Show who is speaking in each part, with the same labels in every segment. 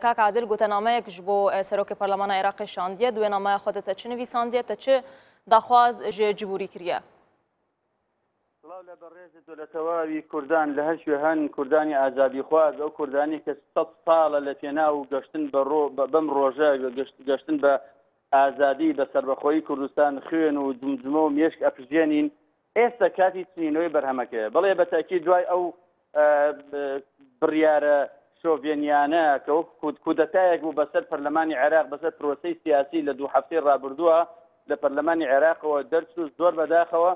Speaker 1: کاک عادل گوتەنامەیەک ji bo Serokê Parlemana Iraqê şandiye, di wê nameya xwe de te çi nivîsandiye, te çi daxwaz ji Cibûrî kiriye?
Speaker 2: سڵاو لە بەڕێزت و لە تەواوی کوردان لە هەر کوێ هەن، کوردانی ئازادیخواز، ئەو کوردانەی کە سەد ساڵە لە پێناو گەشتن بە ڕۆ بەم ڕۆژە، گەشتن بە ئازادی، بە سەربەخۆیی کوردستان خوێن و جومجومە و مێشک ئەپژێنین، ئێستا کاتی چنینەوەی بەرهەمەکەیە. بەڵێ بە تەئکید دوای ئەو بڕیارە شۆڤێنیانە کە وەک کودەتایەک بوو بەسەر پەرلەمانی عێراق، بەسەر پرۆسەی سیاسی لە دوو هەفتەی ڕابردووە لە پەرلەمانی عێراقەوە دەرچوو، زۆر بەداخەوە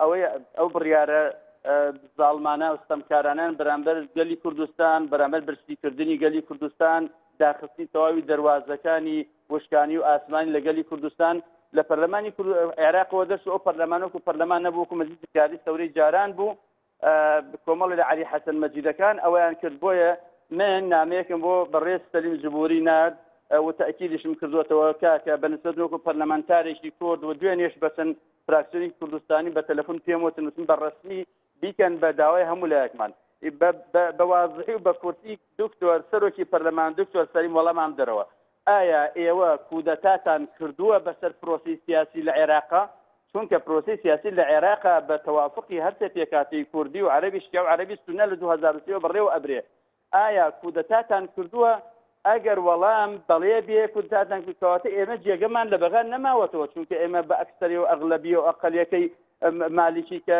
Speaker 2: ئەوەی ئەو بڕیارە زاڵمانە و ستەمکارانەیان بەرامبەر گەلی کوردستان، بەرامبەر برسیکردنی گەلی کوردستان، داخستنی تەواوی دەروازەکانی وشکانی و ئاسمانی لە گەلی کوردستان لە پەرلەمانی عێراقەوە دەرچوو، ئەو پەرلەمان وەکو پەرلەمان نەبوو، وەکو مەجلیسی قیادەی سەورەی جاران بوو، کۆمەڵی لە عەلی حەسەن مەجیدەکان ئەوەیان کرد. بۆیە من نامەیەکم بۆ بەڕێز سەلیم جبوری نارد و تەئکیدیشم کردووەتەوە کاکە بە نسبەت وەکو پەرلەمانتارێکی کورد و دوێنێش بەچەند فراکسیۆنی کوردستانی بە تەلەفون پێم وتن، وتم بە ڕەسمی بیکەن بە داوای هەموو لایەکمان بە وازحی و بە کورتی دکتۆر سەرۆکی پەرلەمان دکتۆر سەلیم وەڵامان بدەرەوە ئایا ئێوە کودەتاتان کردووە بەسەر پرۆسەی سیاسی لە عێراقا؟ چونکە پرۆسەی سیاسی لە عێراقا بە تەوافقی هەرسێ پێکهاتەی کوردی و عەرەبی شیعە و عەرەبی سوننە لە 2003 وە بەڕێوە ئەبرێ. ئایا کودەتاتان کردووە؟ ئەگەر وەڵام بەڵێ بێ کودەتاتان کرد کەواتە ئێمە جێگەمان لە بەغا نەماوەتەوە چونکە ئێمە بە ئەکسەری و ئەغلەبیە و ئەقەلیەکەی مالیکی کە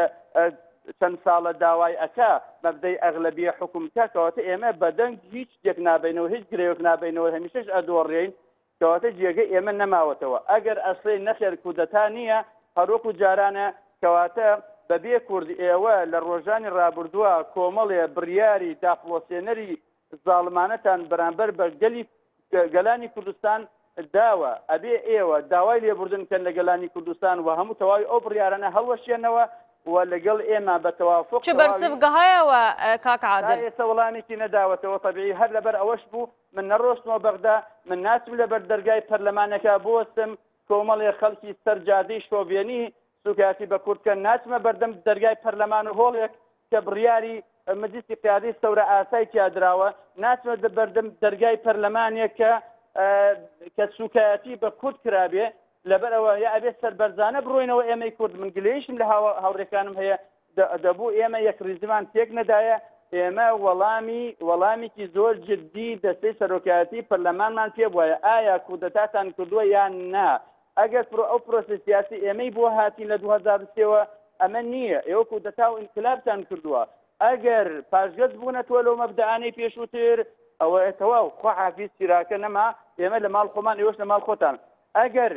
Speaker 2: چەند ساڵە داوای ئەکا مەبدەی ئەغلەبیە حوکم بکا کەواتە ئێمە بەدەنگ هیچ شتێک نابەینەوە هیچ گرێوێک نابەینەوە هەمیشەش ئەدۆڕێین کەواتە جێگەی ئێمە نەماوەتەوە ئەگەر ئەسڵێ نەخێر کودەتا نییە هەروەکو جارانە کەواتە بەبێ کورد ئێوە لە ڕۆژانی ڕابردووە کۆمەڵێ بڕیاری داپڵۆسێنەری زاڵمانەتان بەرامبەر بە گەلی گەلانی کوردستان داوە، ئەبێ ئێوە داوای لێبوردن بکەن لە گەلانی کوردستان و هەموو تەواوی ئەو بڕیارانە هەڵوەشێنەوە و لەگەڵ ئێمە بە تەوافوق
Speaker 1: چ بەرسڤ
Speaker 2: تەواوی
Speaker 1: گەهایەوە کاک
Speaker 2: تا
Speaker 1: عادل؟
Speaker 2: ئێستا وەڵامێکی نەداوەتەوە، تەبیعی هەر لەبەر ئەوەش بوو من نەڕۆشتمەوە بەغدا، من ناچم لەبەر دەرگای پەرلەمانەکە بوەستم، کۆمەڵێ خەڵکی سەر جادەی شۆڤێنی سوکایەتی بە کورد بکەن، ناچمە بەردەم دەرگای پەرلەمان و هۆڵێک کە بڕیاری مەجلیسی قیادەی سەورە ئاسای تیا دراوە، ناچمە بەردەم دەرگای پەرلەمانێک کە کە سوکایەتی بە کورد کرابێ، لەبەر ئەوە یا ئەبێ سەربەرزانە بڕۆینەوە ئێمەی کورد، من گلەیشم لە هاوڕێکانم هەیە، دەبوو ئێمە یەکڕیزیمان تێک نەدایە، ئێمە وەڵامی وەڵامێکی زۆر جدی دەستەی سەرۆکایەتی پەرلەمانمان پێ بوایە، ئایا کودەتاتان کردووە یان نا؟ ئەگەر پرۆ ئەو پرۆسەی سیاسی ئێمەی بۆ هاتین لە 2003 وە ئەمە نییە، ئێوە کودەتا و ئینقلابتان کردووە، ئەگەر پاشگەز بوونەتەوە لەو مەبدەئانەی پێشووتر ئەوە تەواو خواحافیز چیراکە نەما، ئێمە لە ماڵ خۆمان ئێوەش لە ماڵ خۆتان. ئەگەر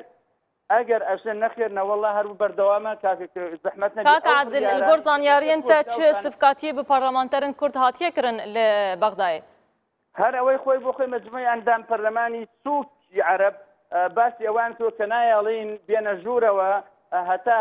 Speaker 2: ئەگەر ئەشێ نەخێر نەوەڵا هەر بەردەوامە کاکە زەحمەت نەبێ
Speaker 1: کاک
Speaker 2: ئەو
Speaker 1: عادل
Speaker 2: بڕیارانەی
Speaker 1: گۆر
Speaker 2: کە
Speaker 1: زانیاریەن
Speaker 2: کورد
Speaker 1: تە چ
Speaker 2: داوتان
Speaker 1: سفکاتیە بە پارلەمانتەرن کورد هاتیە کرن لە بەغدایێ؟
Speaker 2: هەر ئەوەی خۆی بۆ خۆی مەجموعی ئەندام پەرلەمانی سووکی عەرەب باسی ئەوان کردووە کە نایەڵین بێنە ژوورەوە هەتا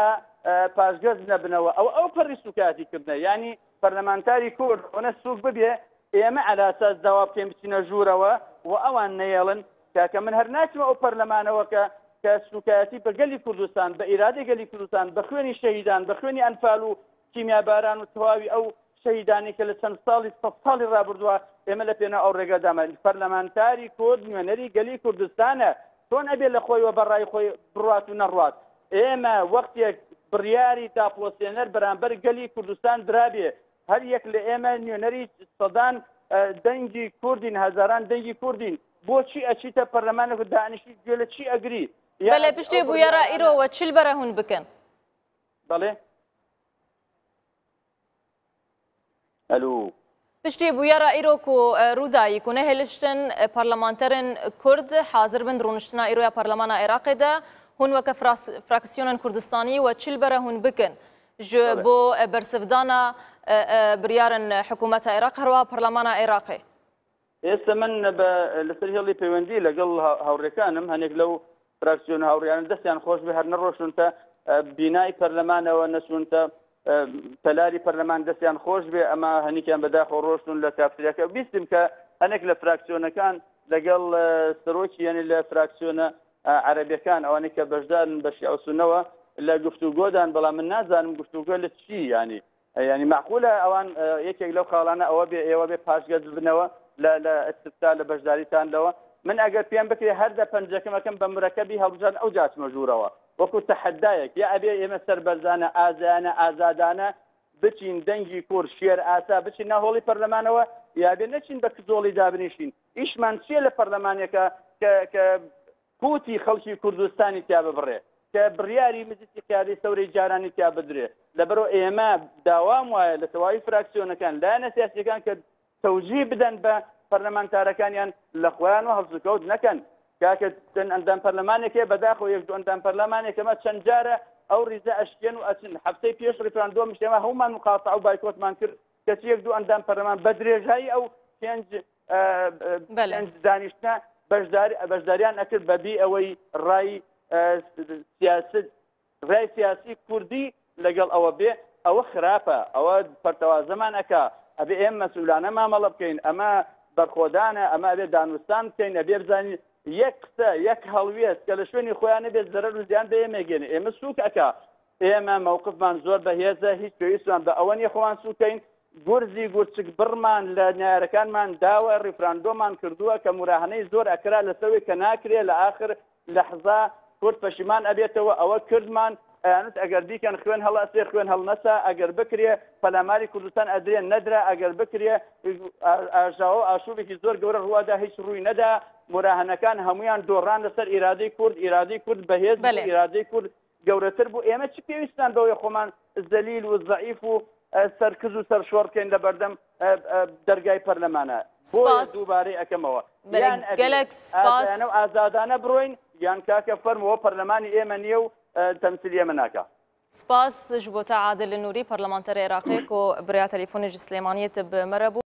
Speaker 2: پاشگەز نەبنەوە ئەوە ئەو پەڕی سووکایەتی کردنە یانی پەرلەمانتاری کورد ئەوەنە سووک ببێ ئێمە عەلاساس داوا بکەین بچینە ژوورەوە و ئەوان نەیەڵن کاکە من هەر ناچمە ئەو پەرلەمانەوە کە کە سوکایەتی بە گەلی کوردستان بە ئیرادەی گەلی کوردستان بە خوێنی شەهیدان بە خوێنی ئەنفال و کیمیاباران و تەواوی ئەو شەهیدانی کە لە چەند ساڵی سە ساڵی ڕابردووە ئێمە لە پێناو ئەو ڕێگا دامان پەرلەمانتاری کورد نوێنەری گەلی کوردستانە چۆن ئەبێ لە خۆیوە بە ڕای خۆی بڕات و نەڕوات ئێمە وەختێک بڕیاری داپڵۆسێنەر بەرامبەر گەلی کوردستان درابێ هەر یەک لە ئێمە نوێنەری سەدان دەنگی کوردین، هەزاران دەنگی کوردین، بۆچی ئەچیتە پەرلەمانێک و دانیشتی گوێ لە چی ئەگری؟ یا
Speaker 1: بەلێ
Speaker 2: ئەو
Speaker 1: پشتێ بویەرا
Speaker 2: بڕیارانە
Speaker 1: ئیرۆ وە چل بەرە هون بکەن.
Speaker 2: بەڵێ ئەلو.
Speaker 1: پشتێ بویەرا ئیرۆ کو ڕوودایی کو نەهێلشتن پەرلەمانتەرن کورد حازر بن ڕوونشتنا ئیرۆیا پەرلەمانا عێراقێ دە هون وەکە فراکسیۆنن کوردستانی وە چل بەرە هون بکەن ji bo bersivdana biryarên hikûmeta Iraq herwiha parlemana Iraqê.
Speaker 2: ئێستا من بە لەسەر هێڵی پەیوەندی لەگەڵ هاوڕێکانم هەنێک لەو فراکسیۆن هاوڕیانە دەستیان خۆش بێ هەر نەڕۆشتونتە بینای پەرلەمانەوە نەچوونتە تەلاری پەرلەمان دەستیان خۆش بێ ئەمە هەنیکیان بەداخەوە ڕۆشتون لە کافتریاکە بیستم کە هەنێک لە فراکسیۆنەکان لەگەڵ سەرۆکی یعنی لە فراکسیۆنە عەرەبیەکان ئەوانەی کە بەشدارن بە شیعە و سوننەوە لە گفتوگۆدان بەڵام من نازانم گفتوگۆ لە چی یانی یانی مەعقولە ئەوان یەکێک لەو خاڵانە ئەوە بێ ئێوە بێ پاشگەز ببنەوە لە لە ئیستفتا لە بەشداریتان لەوە من ئەگەر پێم بکرێ هەر دە پەنجەکەم ئەکەم بە مرەکەبی هەڵبژاردن ئەوجا ئەچمە ژوورەوە وەکو تەحەدایەک یا ئەبێ ئێمە سەربەرزانە ئازایانە ئازادانە بچین دەنگی کور شێر ئاسا بچین ناو هۆڵی پەرلەمانەوە یا بێ نەچین بە کزۆڵی دابنیشین ئیشمان چییە لە پەرلەمانێکە کە کە قوتی خەڵکی کوردستانی تیا ببڕێ کە بڕیاری مجلسی قیادەی سەورەی جارانی تیا بدرێ لەبەرئەوە ئێمە داوام وایە لە تەواوی فراکسیۆنەکان لایەنە سیاسیەکان کە تەوجیه بدەن بە پەرلەمانتارەکانیان لە خۆیان و هەڵسوکەوت نەکەن کاکە چەند ئەندام پەرلەمانێک هەیە بەداخەوە یەک دوو ئەندام پەرلەمانێک ئەمە چەند جارە ئەو ریزە ئەشکێن و ئەچن هەفتەی پێش ڕیفراندۆمیش ئێمە هەموومان مقاتعە و بایکۆتمان کرد کەچی یەک دوو ئەندام پەرلەمان بە درێژایی ئەو پێنج
Speaker 1: بەلێ.
Speaker 2: پێنج دانیشتنە بەشداری بەشداریان ئەکرد بەبی ئەوەی ڕای سیاست ڕای سیاسی کوردی لەگەڵ ئەوە بێ ئەوە خراپە ئەوە پەرتەوازەمان ئەکا ئەبێ ئێمە مەسئولانە مامەڵە بکەین ئەمە بەرخۆدانە ئەمە ئەبێ دانوستان بکەین ئەبێ بزانین یەک قسە یەک هەڵوێست کە لە شوێنی خۆیان نەبێت زەرەر و زیان بە ئێمە گەێنێ ئێمە سووک ئەکا ئێمە مەوقفمان زۆر بەهێزە هیچ پێویستمان بە ئەوە نیە خۆمان سووکەین گورزی گورچک بڕمان لە نەیارەکانمان داوە ڕیفراندۆمان کردووە کە موراهەنەی زۆر ئەکرا لەسەوەی کە ناکرێ لە ئاخر لەحزە کورد پەشیمان ئەبێتەوە ئەوە کردمان ئەیانوت ئەگەر بیکەن خوێن هەڵئەسێ خوێن هەڵنەسا ئەگەر بکرێ پەلاماری کوردستان ئەدرێ نەدرا ئەگەر بکرێ ئاژاوە و ئاشوبێکی زۆر گەورە ڕووادا هیچ ڕووی نەدا موراهەنەکان هەمویان دۆڕان لەسەر ئیرادەی کورد ئیرادەی کورد بەهێز بوو ئیرادەی کورد گەورەتر بوو ئێمە چ پێویستمان بەوەیە خۆمان زەلیل و زەعیف و سەرکز و سەرشۆڕ بکەین لە بەردەم دەرگای پەرلەمانە بۆیە دووبارەی ئەکەمەوە یان
Speaker 1: گەلەک سپاس
Speaker 2: ئازایانە و ئازادانە بڕۆین یان کاکە فەرمووە پەرلەمانی ئێمە نییە و تەمسیلی ئێمە ناکا.
Speaker 1: سپاس ji bo te Adil Nûrî, Parlamenterê Iraqê ku bi rêya telefûnê ji Silêmaniyê tu bi me re bû.